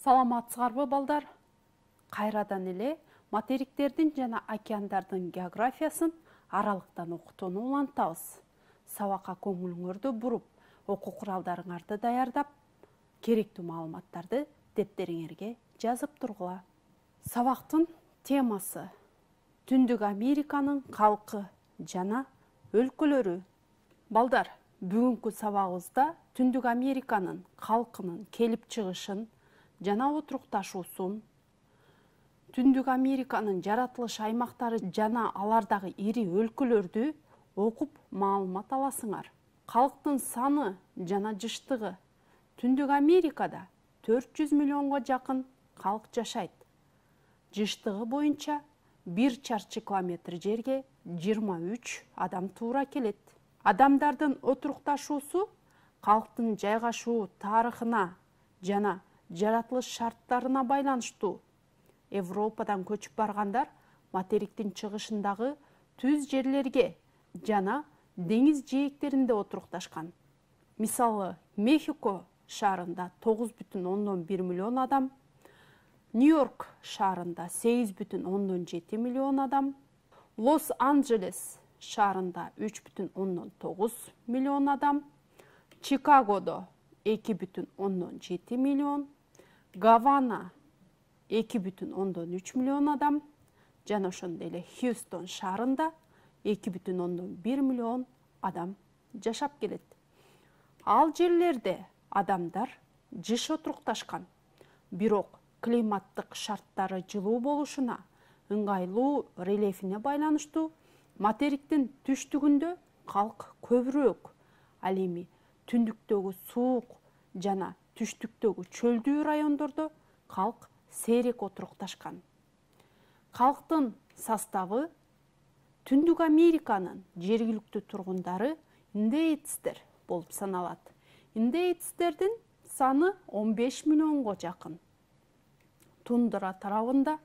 Саламатсыздарбы балдар? Кайрадан эле материктердин жана океандардын географиясын аралыктан окутууну улантабыз. Сабакка көңүлүңөрдү буруп, окуу куралдарыңарды даярдап, керектүү маалыматтарды дептериңерге жазып тургула. Сабактын темасы: Түндүк Американын калкы жана өлкөлөрү. Балдар, бүгүнкү сабагыбызда Түндүк Американын калкынын келип чыгышын жана отурукташуусун, Түндүк Американын жаратылыш аймактары жана алардагы ири өлкөлөрдү окуп маалымат аласыңар. Калктын саны жана жыштыгы: Түндүк Америкада 400 миллионго жакын калк жашайт. Жыштыгы боюнча 1 чарчы километр жерге 23 адам туура келет. Адамдардын отурукташуусу калктын жайгашуу тарыхына жана жаратылыш шарттарына байланыштуу. Европадан көчүп баргандар материктин чыгышындагы түз жерлерге жана деңиз жээктеринде отурукташкан. Мисалы, Мехико шаарында 9,1 миллион адам, Нью-Йорк шаарында 8,7 миллион адам, Лос-Анджелес шаарында 3,9 миллион адам, Чикагодо 2,7 миллион, Гавана 2,3 миллион адам, жана ошондой эле Хьюстон шаарында 2,1 миллион адам жашап келет. Ал жерлерде адамдар жыш отурукташкан, бирок климаттык шарттары жылуу болушуна, ыңгайлуу рельефине байланыштуу материктин түштүгүндө калк көбүрөөк, ал эми түндүктөгү суук жана түштүктөгү чөлдүү райондордо калк сейрек отурукташкан. Калктын составы: Түндүк Американын жергиликтүү тургундары индеецтер болуп саналат. Индеецтердин саны 15 миллионго жакын. Тундра тарабында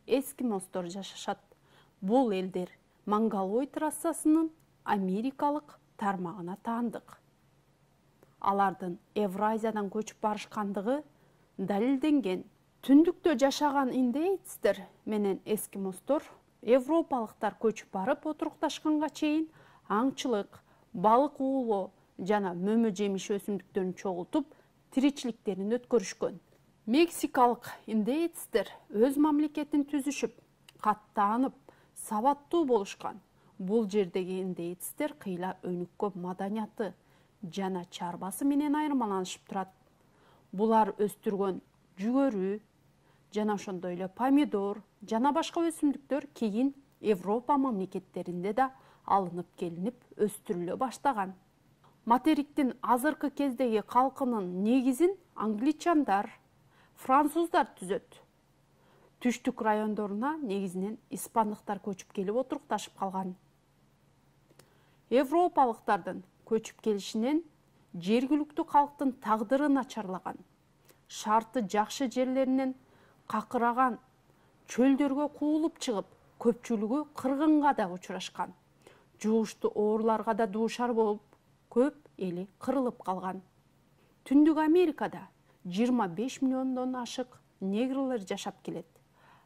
эскимостор жашашат. Бул элдер Монголой трассасынын америкалык тармагына таандык. Алардын Евразиядан көчүп барышкандыгы далилденген. Түндүктө жашаган индеецтер менен эскимостор европалыктар көчүп барып отурукташканга чейин аңчылык, балык уулоо жана мөмө жемиш өсүмдүктөрүн чогултуп тиричиликтерин өткөрүшкөн. Мексикалык индеецтер өз мамлекетин түзүшүп, каттанып, сабаттуу болушкан. Бул жердеги индеецтер кыйла өнүккөн маданияты жана чарбасы менен айырмаланышып турат. Булар өстүргөн жүгөрү жана ошондой эле помидор жана башка өсүмдүктөр кийин Европа мамлекеттеринде да алынып келинип өстүрүлө баштаган. Материктин азыркы кездеги калкынын негизин англичандар, француздар түзөт. Түштүк райондоруна негизинен испандыктар көчүп келип отурукташып калган. Европалыктардын көчүп келишинен жергиликтүү калктын тагдыры начарлаган. Шарты жакшы жерлеринен какыраган чөлдөргө куулуп чыгып, көпчүлүгү кыргынга да учурашкан. Жугуштуу ооруларга да дуушар болуп, көп эли кырылып калган. Түндүк Америкада 25 миллиондон ашык негрлер жашап келет.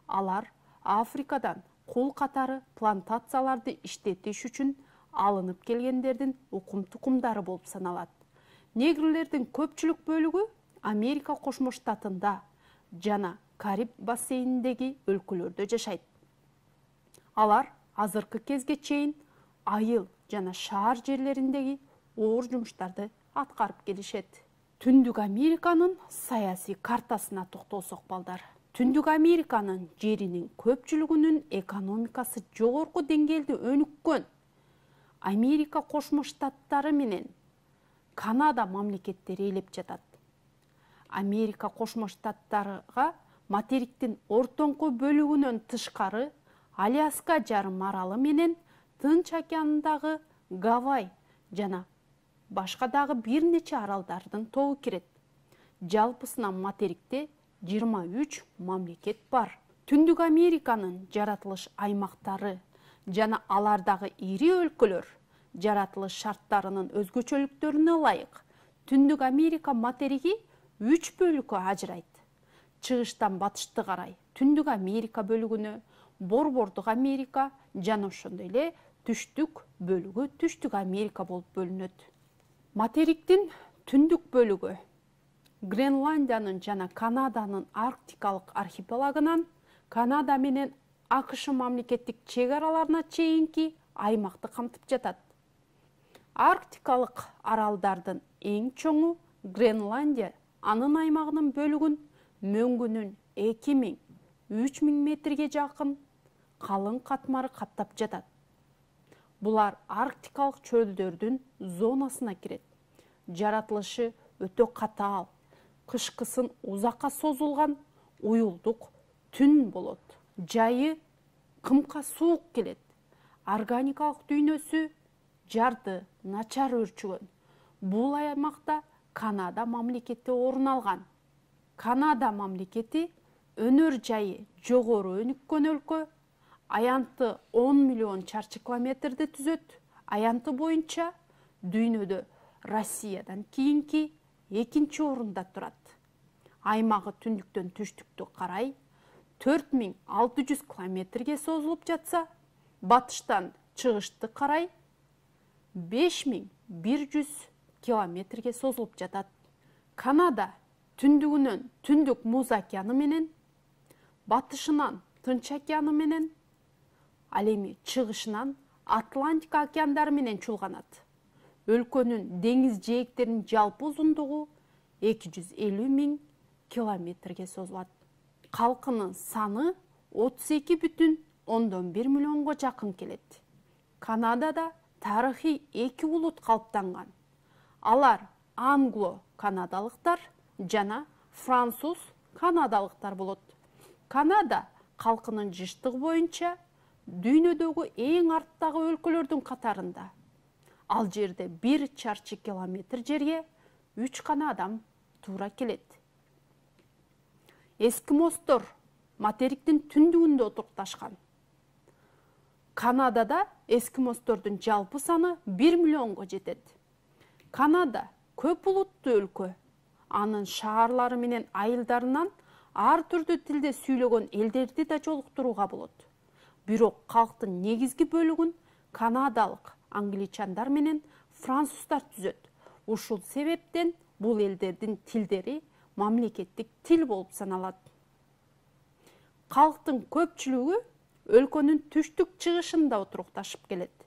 Алар Африкадан кул катары плантацияларды иштетиш үчүн алынып келгендердин укум-тукумдары болуп саналат. Негрлердин көпчүлүк бөлүгү Америка Кошмо Штатында жана Кариб бассейниндеги өлкөлөрдө жашайт. Алар азыркы кезге чейин айыл жана шаар жерлериндеги оор жумуштарды аткарып келишет. Түндүк Американын саясий картасына токтолсок балдар. Түндүк Американын жеринин көпчүлүгүнүн экономикасы жогорку деңгээлде өнүккөн. Америка Кошмо Штаттары менен Канада мамлекеттери ээлеп жатат. Америка Кошмо Штаттарыга материктин ортоңку бөлүгүнөн тышкары Аляска жарым аралы менен Тынч океанындагы Гавай жана башка дагы бир нече аралдардын тобу кирет. Жалпысынан материкте 23 мамлекет бар. Түндүк Американын жаратылыш аймактары жана алардагы ири өлкөлөр жаратылыш шарттарынын өзгөчөлүктөрүнө ылайык Түндүк Америка материги 3 бөлүккө ажырайт. чыгыштан батышты карай Түндүк Америка бөлүгүнө, Борбордук Америка жана ошондой эле түштүк бөлүгү Түштүк Америка болуп бөлүнөт. Материктин түндүк бөлүгү Гренландиянын жана Канаданын арктикалык архипелагынан Канада менен АКШ мамлекеттик чек араларына чейинки аймакты камтып жатат. Арктикалык аралдардын эң чоңу Гренландия анын аймагынын бөлүгүн мөңгүнүн 2000–3000 метрге жакын калың катмары каптап жатат. Булар арктикалык чөлдөрдүн зонасына кирет. Жаратылышы өтө катаал, кышкысын узакка созулган уюлдук түн болот. Жайы кымка суук келет. Органикалык дүйнөсү жарды начар өрчүгөн. Бул аймакта Канада мамлекети орун алган. Канада мамлекети өнөр жайы жогору өнүккөн өлкө, аянты 10 миллион чарчы километрди түзөт. Аянты боюнча дүйнөдө Россиядан кийинки экинчи орунда турат. Аймагы түндүктөн түштүккө карай 4600 километрге созулуп жатса, батыштан чыгышты карай 5100 километрге созулуп жатат. Канада түндүгүнөн Түндүк Муз океаны менен, батышынан Тынч океаны менен, ал эми чыгышынан Атлантика океандары менен чулганат. Өлкөнүн деңиз жээктеринин жалпы узундугу 250 000 километрге созулат. Калкынын саны 32,1 миллионго жакын келет. Канадада тарыхый эки улут калыптанган. Алар англо-канадалыктар жана француз-канадалыктар болот. Канада калкынын жыштыгы боюнча дүйнөдөгү эң арттагы өлкөлөрдүн катарында. Ал жерде 1 чарчы километр жерге 3 гана адам туура келет. Эскимостор материктин түндүгүндө отурукташкан. Канадада эскимостордун жалпы саны 1 миллионго жетет. Канада көп улуттуу өлкө. Анын шаарлары менен айылдарынан ар түрдүү тилде сүйлөгөн элдерди да жолуктурууга болот. Бирок калктын негизги бөлүгүн канадалык англичандар менен француздар түзөт. Ушул себептен бул элдердин тилдери мамлекеттик тил болуп саналат. Калктын көпчүлүгү өлкөнүн түштүк чыгышында отурукташып келет.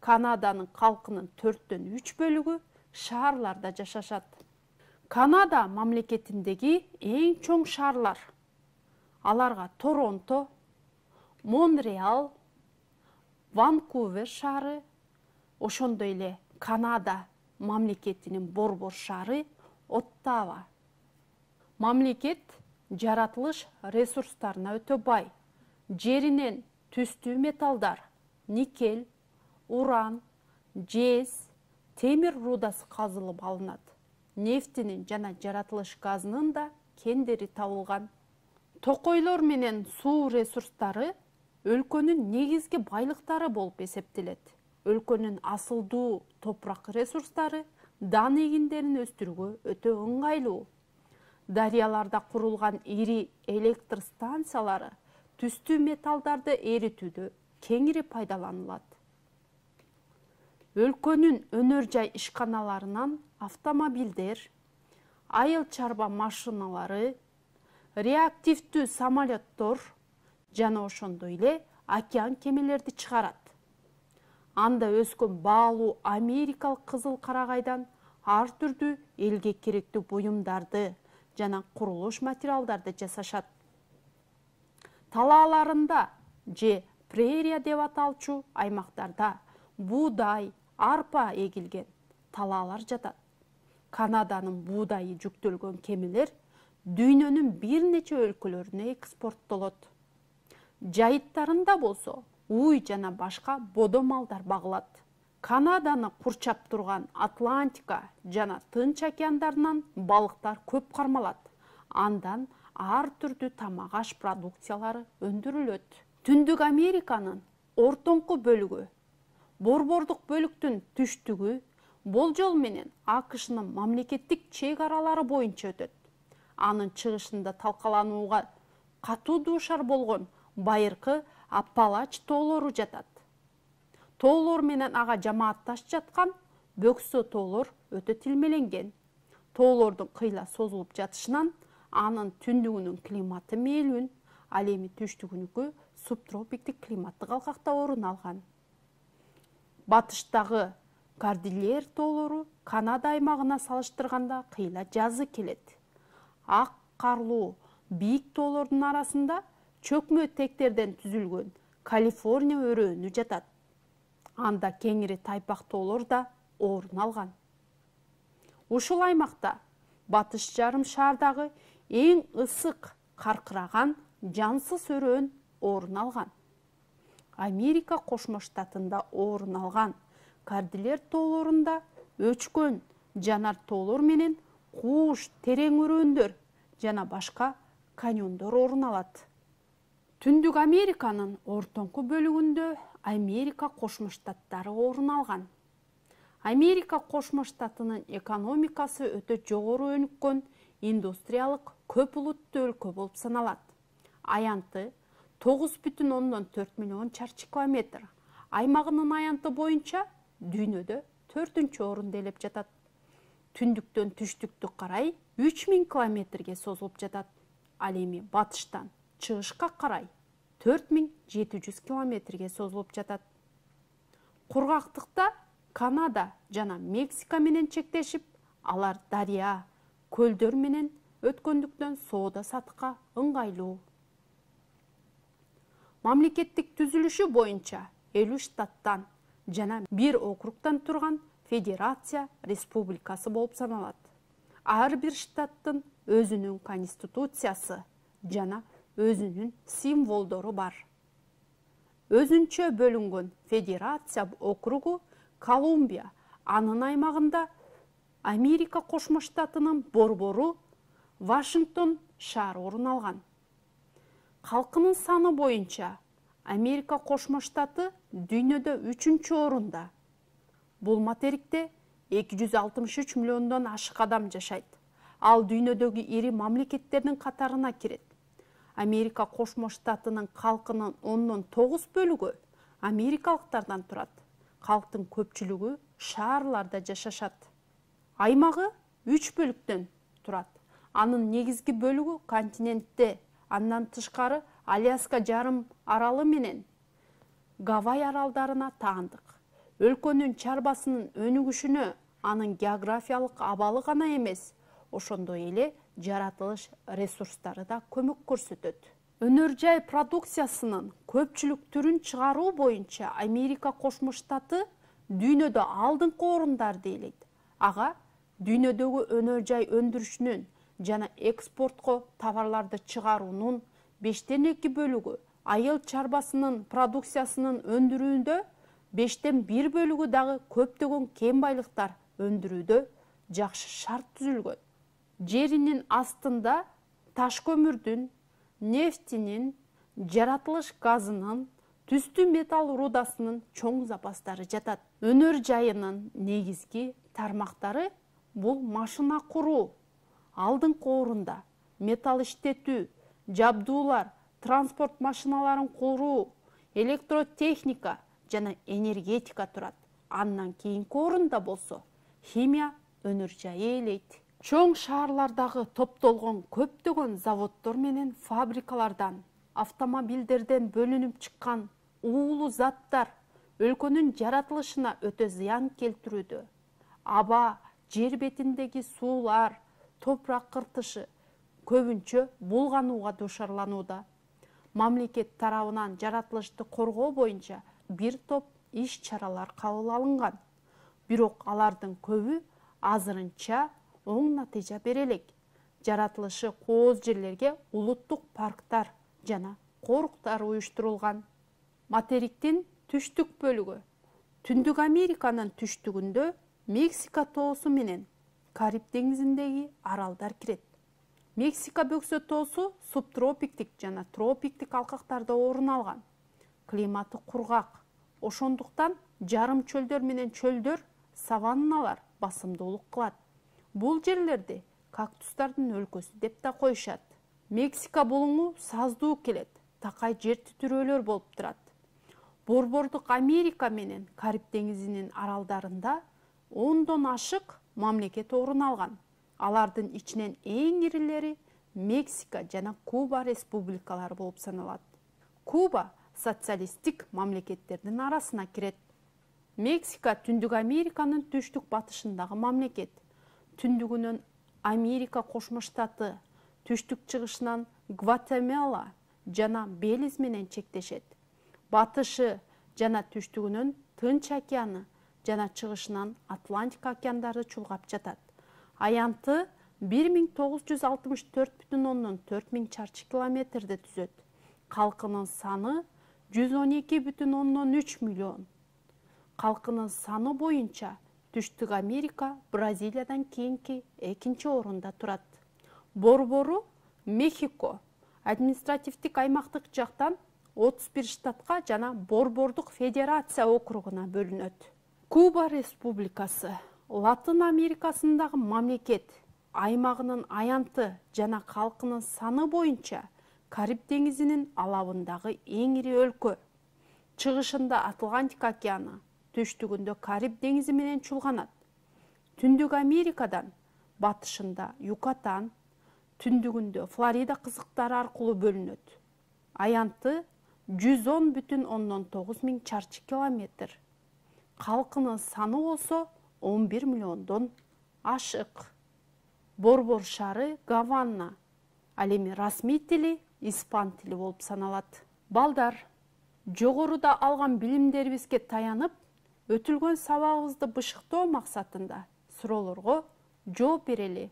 Канаданын калкынын 4/3 бөлүгү шаарларда жашашат. Канада мамлекетиндеги эң чоң шаарлар. Аларга Торонто, Монреал, Ванкувер шаары, ошондой эле Канада мамлекетинин борбор шаары Оттава. Мамлекет жаратылыш ресурстарына өтө бай. Жеринен түстүү металлдар, никель, уран, жез, темир рудасы казылып алынат. Нефтинин жана жаратылыш газынын да кендери табылган. Токойлор менен суу ресурстары өлкөнүн негизги байлыктары болуп эсептелет. Өлкөнүн асылдуу топурак ресурстары дан эгиндерин өстүрүүгө өтө ыңгайлуу. Дарыяларда курулган ири электр станциялары түстүү металлдарды эритүүдө кеңири пайдаланылат. Өлкөнүн өнөр жай ишканаларынан автомобилдер, айыл чарба машиналары, реактивдүү самолеттор жана ошондой эле океан кемелерди чыгарат. Анда өскөн баалуу америкалык кызыл карагайдан ар түрдүү элге керектүү буюмдарды жана курулуш материалдарды жасашат. Талааларында же прерия деп аталчу аймактарда буудай, арпа эгилген талаалар жатат. Канаданын буудайы жүктөлгөн кемелер дүйнөнүн бир нече өлкөлөрүнө экспорттолот. Жайыттарында болсо уй жана башка бодо малдар багылат. Канаданы курчап турган Атлантика жана Тынч океандарынан балыктар көп кармалат. Андан ар түрдүү тамак аш продукциялары өндүрүлөт. Түндүк Американын ортоңку бөлүгү, борбордук бөлүктүн түштүгү болжол менен АКШнын мамлекеттик чек аралары боюнча өтөт. анын чыгышында талкаланууга катуу дуушар болгон байыркы Аппалач тоолору жатат. Тоолор менен ага жамаатташ жаткан бөксө тоолор өтө тилмеленген. Тоолордун кыйла созулуп жатышынан анын түндүгүнүн климаты мээлүүн, ал эми түштүгүнүкү субтропиктик климаттык алкакта орун алган. Батыштагы Кордильер тоолору Канада аймагына салыштырганда кыйла жазы келет. Ак карлуу бийик тоолордун арасында чөкмө тектерден түзүлгөн Калифорния өрөөнү жатат. Анда кеңири тайпак тоолор да орун алган. Ушул аймакта батыш жарым шаардагы эң ысык каркыраган жансыз өрөөн орун алган. Америка Кошмо Штатында орун алган Кордильер тоолорунда өчкөн жанар тоолор менен кууш терең өрөөндөр жана башка каньондор орун алат. Түндүк Американын ортоңку бөлүгүндө Америка Кошмо Штаттары орун алган. Америка Кошмо Штатынын экономикасы өтө жогору өнүккөн индустриялык көп улуттуу өлкө болуп саналат. Аянты 9,4 миллион чарчы километр. Аймагынын аянты боюнча дүйнөдө 4-чү орунда ээлеп жатат. Түндүктөн түштүккө карай 3000 километрге созулуп жатат. Ал эми батыштан чыгышка карай 4700 километрге созулуп жатат. Кургактыкта Канада жана Мексика менен чектешип, алар дарыя, көлдөр менен өткөндүктөн соода сатыкка ыңгайлуу. Мамлекеттик түзүлүшү боюнча 50 штаттан жана 1 округтан турган федерация республикасы болуп саналат. Ар бир штаттын өзүнүн конституциясы жана өзүнүн символдору бар. Өзүнчө бөлүнгөн федерация округу Колумбия, анын аймагында Америка Кошмо Штатынын борбору Вашингтон шаар орун алган. Калкынын саны боюнча Америка Кошмо Штаты дүйнөдө 3-чү орунда. Бул материкте 263 миллиондон ашык адам жашайт. Ал дүйнөдөгү ири мамлекеттердин катарына кирет. Америка Кошмо Штатынын калкынын 9 бөлүгү америкалыктардан турат. Калктын көпчүлүгү шаарларда жашашат. Аймагы 3 бөлүктөн турат. Анын негизги бөлүгү континентте, андан тышкары Аляска жарым аралы менен Гавай аралдарына таандык. Өлкөнүн чарбасынын өнүгүшүнө анын географиялык абалы гана эмес, ошондой эле жаратылыш ресурстары да көмөк көрсөтөт. Өнөр жай продукциясынын көпчүлүк түрүн чыгаруу боюнча Америка Кошмо Штаты дүйнөдө алдыңкы орундарды ээлейт. Ага дүйнөдөгү өнөр жай өндүрүшүнүн жана экспортко товарларды чыгаруунун 5/2 бөлүгү, айыл чарбасынын продукциясынын өндүрүүндө 5/1 бөлүгү дагы көптөгөн кен байлыктар өндүрүүдө жакшы шарт түзүлгөн. Жеринин астында таш көмүрдүн, нефтинин, жаратылыш газынын, түстүү металл рудасынын чоң запастары жатат. Өнөр жайынын негизги тармактары бул машина куруу, алдыңкы орунда, металл иштетүү, жабдуулар, транспорт машиналарын куруу, электротехника жана энергетика турат. Андан кийинки орунда болсо химия өнөр жайы ээлейт. Чоң шаарлардагы топтолгон көптөгөн заводдор менен фабрикалардан, автомобилдерден бөлүнүп чыккан уулуу заттар өлкөнүн жаратылышына өтө зыян келтирүүдө. Аба, жер бетиндеги суулар, топурак кыртышы көбүнчө булганууга дуушарланууда. Мамлекет тарабынан жаратылышты коргоо боюнча бир топ иш-чаралар кабыл алынган. Бирок алардын көбү азырынча оң натыйжа бере элек. Жаратылышы кооз жерлерге улуттук парктар жана коруктар уюштурулган. Материктин түштүк бөлүгү. Түндүк Американын түштүгүндө Мексика тоосу менен Кариб деңизиндеги аралдар кирет. Мексика бөксө тоосу субтропиктик жана тропиктик алкактарда орун алган. Климаты кургак. Ошондуктан жарым чөлдөр менен чөлдөр, саванналар басымдуулук кылат. Бул жерлерде кактустардын өлкөсү деп да коюшат. Мексика булуңу саздуу келет, такай жер титирөөлөр болуп турат. Борбордук Америка менен Кариб деңизинин аралдарында 10дон ашык мамлекет орун алган. Алардын ичинен эң ирилери Мексика жана Куба республикалары болуп саналат. Куба социалисттик мамлекеттердин арасына кирет. Мексика Түндүк Американын түштүк батышындагы мамлекет. Түндүгүнөн Америка Кошмо Штаты, түштүк чыгышынан Гватемала жана Белиз менен чектешет. Батышы жана түштүгүнөн Тынч океаны жана чыгышынан Атлантика океандары чулгап жатат. Аянты 1964,4 миң чарчы километрди түзөт. Калкынын саны 112,3 миллион. Калкынын саны боюнча Түштүк Америка Бразилиядан кийинки экинчи орунда турат. Борбору Мехико административдик аймактык жактан 31 штатка жана Борбордук Федерация округуна бөлүнөт. Куба Республикасы Латын Америкасындагы мамлекет. Аймагынын аянты жана калкынын саны боюнча Кариб деңизинин алабындагы эң ири өлкө. Чыгышында Атлантика океаны, түштүгүндө Кариб деңизи менен чулганат. Түндүк Америкадан батышында Юкатан, түндүгүндө Флорида кызыктары аркылуу бөлүнөт. Аянты 110,9 миң чарчы километр. Калкынын саны болсо 11 миллиондон ашык. Борбор шаары Гавана. Ал эми расмий тили испан тили болуп саналат. Балдар, жогоруда алган билимдерибизге таянып, өтүлгөн сабагыбызды бышыктоо максатында суроолорго жооп берели.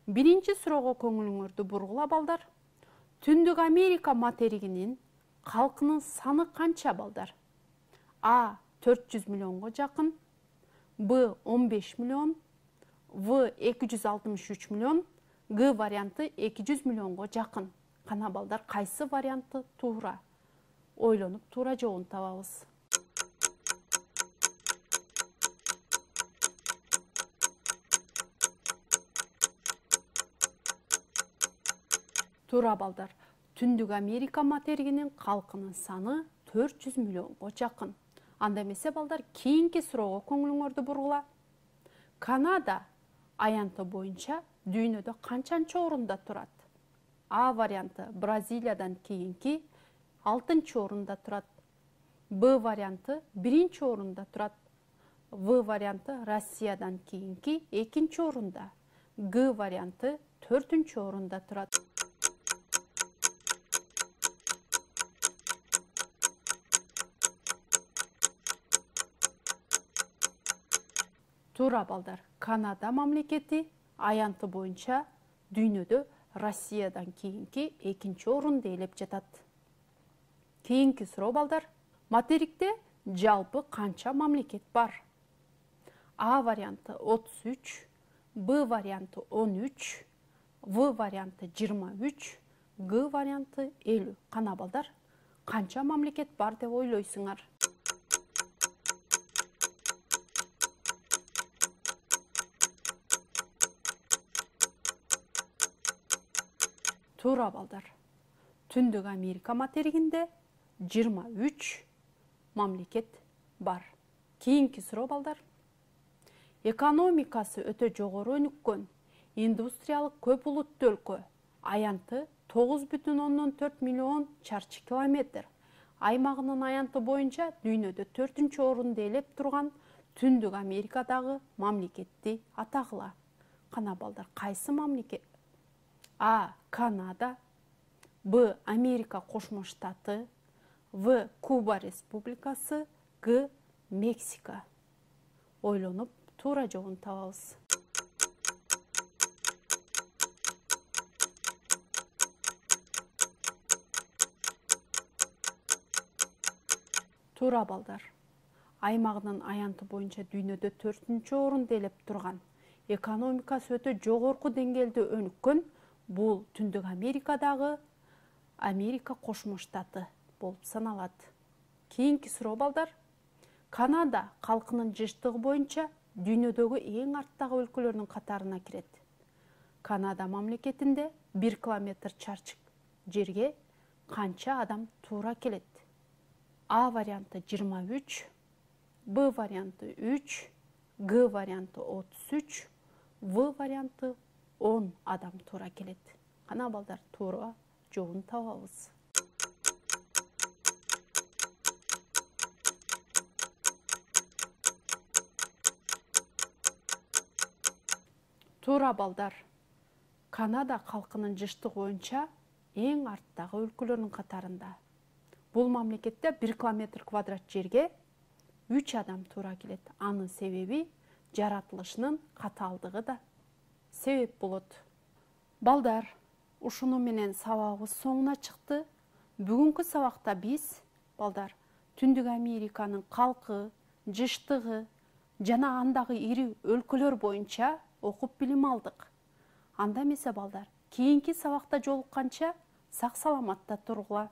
Биринчи суроого көңүлүңөрдү бургула балдар. Түндүк Америка материгинин калкынын саны канча балдар? А. 400 миллионго жакын, Б. 15 миллион, В. 263 миллион, Г варианты 200 миллионго жакын. Кана балдар, кайсы варианты туура? Ойлонуп туура жообун табабыз. Туура балдар. Түндүк Америка материгинин калкынын саны 400 миллионго жакын. Анда эмесе балдар, кийинки суроого көңүлүңөрдү бургула. Канада аянты боюнча дүйнөдө канчанчы орунда турат? А варианты Бразилиядан кийинки 6-чы орунда турат. Б варианты 1-чи орунда турат. В варианты Россиядан кийинки 2-чи орунда. Г варианты 4-чү орунда турат. Туура балдар. Канада мамлекети аянты боюнча дүйнөдө Россиядан кийинки 2-чи орунду ээлеп жатат. Кийинки суроо балдар. Материкте жалпы канча мамлекет бар? А варианты 33, Б варианты 13, В варианты 23, Г варианты 50. Кана балдар, канча мамлекет бар деп ойлойсуңар? Туура балдар. Түндүк Америка материгинде 23 мамлекет бар. Кийинки суроо балдар. Экономикасы өтө жогору өнүккөн индустриялык көп улуттуу өлкө. Аянты 9,4 миллион чарчы километр. Аймагынын аянты боюнча дүйнөдө 4-чү орунду ээлеп турган Түндүк Америкадагы мамлекетти атагыла. Кана балдар, кайсы мамлекет? А. Канада, Б. Америка Кошмо Штаты, В. Куба Республикасы, Г. Мексика. Ойлонуп туура жообун табабыз. Туура балдар. Аймагынын аянты боюнча дүйнөдө 4-чү орунду ээлеп турган, экономикасы өтө жогорку деңгээлде өнүккөн бул Түндүк Америкадагы Америка Кошмо Штаты болуп саналат. Кийинки суроо балдар. Канада калкынын жыштыгы боюнча дүйнөдөгү эң арттагы өлкөлөрдүн катарына кирет. Канада мамлекетинде 1 километр чарчык жерге канча адам туура келет? А варианты 23, Б варианты 3, Г варианты 33, В варианты 10 адам туура келет. Кана балдар, туура жообун табабыз. Туура балдар. Канада калкынын жыштыгы боюнча эң арттагы өлкөлөрдүн катарында. Бул мамлекетте 1 километр квадрат жерге 3 адам туура келет. Анын себеби жаратылышынын катаалдыгы да себеп болот. Балдар, ушуну менен сабагыбыз соңуна чыкты. Бүгүнкү сабакта биз, балдар, Түндүк Американын калкы, жыштыгы жана андагы ири өлкөлөр боюнча окуп билим алдык. Анда эмесе балдар, кийинки сабакта жолукканча сак саламатта тургула.